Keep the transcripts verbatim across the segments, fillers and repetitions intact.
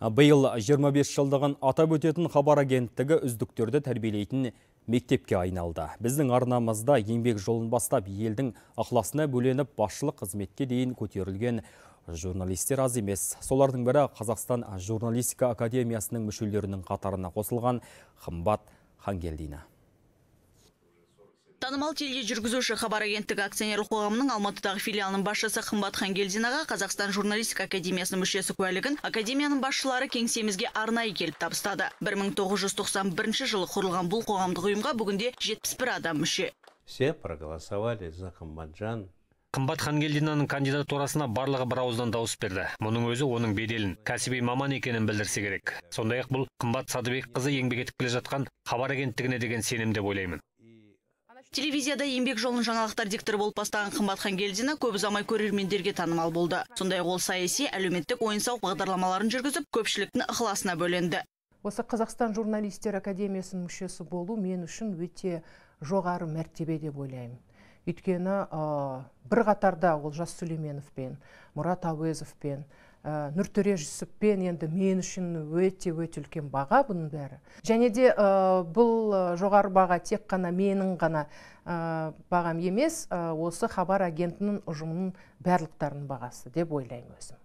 Биыл жиырма бес жылдығын атап өтетін хабар агенттігі үздіктерді тәрбиелейтін мектепке айналды. Біздің арнамызда еңбек жолын бастап елдің ықыласына бөленіп басшылық қызметке дейін көтерілген журналистер аз емес. Солардың бірі Қазақстан журналистика академиясының мүшелерінің қатарына қосылған Қымбат Хангелдина. Танымал тележүргізуші хабар агенттігі акционерлік қоғамының Алматыдағы филиалының басшысы Қымбат Хангелдинаға Қазақстан журналистика академиясының мүшесі куәлігін академияның басшылары кеңсемізге арнайы келіп табыстады. бір мың тоғыз жүз тоқсан бірінші жылы құрылған бұл қоғамдық ұйымға бүгінде жетпіс бір адам мүше. Все проголосовали за Қымбатжан. Қымбат Хангелдинаның кандидатурасына барлығы бір ауыздан дауыс берді. Мұның өзі оның беделін, кәсіби маман екенін білдірсе керек. Сондай-ақ бұл Қымбат Садыбекқызы еңбек етіп келе жатқан хабар агенттігіне деген сенім деп ойлаймын. Телевизияда еңбек жолын жаңалықтар дикторы болып бастаған Қымбат Хангелдина көп ұзамай көрермендерге танымал болды. Сондай-ақ ол саяси, әлеуметтік ойын-сауық бағдарламаларын жүргізіп, көпшіліктің ықыласына бөленді. Осы Қазақстан журналистер академиясының мүшесі болу мен үшін өте жоғары мәртебе деп ойлаймын. Өйткені бір қатарда Олжас Сүлейменовпен, Мұрат Әуезовпен, Нұртөре Жүсіппен енді мен үшін өте-өте үлкен баға бұның бәрі. Және де бұл жоғары баға тек қана менің ғана бағам емес, осы хабар агентінің ұжымының барлықтарының бағасы деп ойлаймын өзім.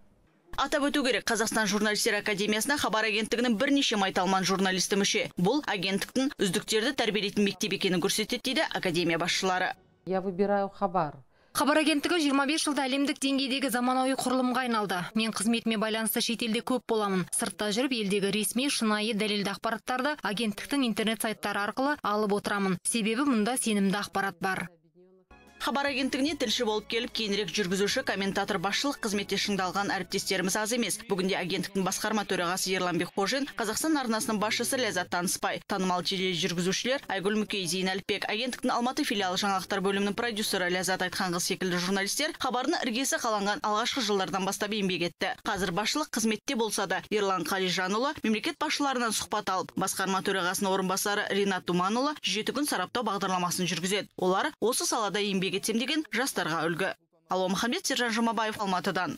Атап өту керек, Қазақстан журналистер академиясына хабар агенттігінің бірнеше майталман журналисті мүше. Бұл агенттіктің үздіктерді тәрбиелейтін мектеп екенін көрсетеді дейді академия басшылары. Я выбираю хабар. Хабар агенттігі жиырма бес жылда әлемдік деңгейдегі заманауи құрылымға айналды. Мен қызметіме байланысты шетелде көп боламын. Сыртта жүріп елдегі ресми, шынайы, дәлелді ақпараттарды агенттіктің интернет сайттары арқылы алып отырамын. Себебі мұнда сенімді ақпарат бар. Хабар агенттігіне тілші болып келіп, кейінірек жүргізуші, комментатор, басшылық қызметте шыңдалған әріптестеріміз аз емес. Бүгінде агенттіктің басқарма төрағасы Ерлан Бекқожин, Қазақстан арнасының басшысы Ләззат Таныспай, танымал тележүргізушілер Айгүл Мүкей, Зейін Әліпбек, агенттіктің Алматы филиалы жаңалықтар бөлімінің продюсері Ләззат Айтханқызы секілді журналистер хабардың іргесі қаланған алғашқы жылдардан бастап еңбек етті. Қазір басшылық қызметте болса да, Ерлан Қалижанұлы мемлекет басшыларынан сұхбат алып, басқарма төрағасының орынбасары Ринат Думанұлы жеті күн сараптау бағдарламасын жүргізеді. Олар осы салада еңбек етсем деген жастарға үлгі. Алуа Махамбет, Сержан Жұмабаев, Алматыдан.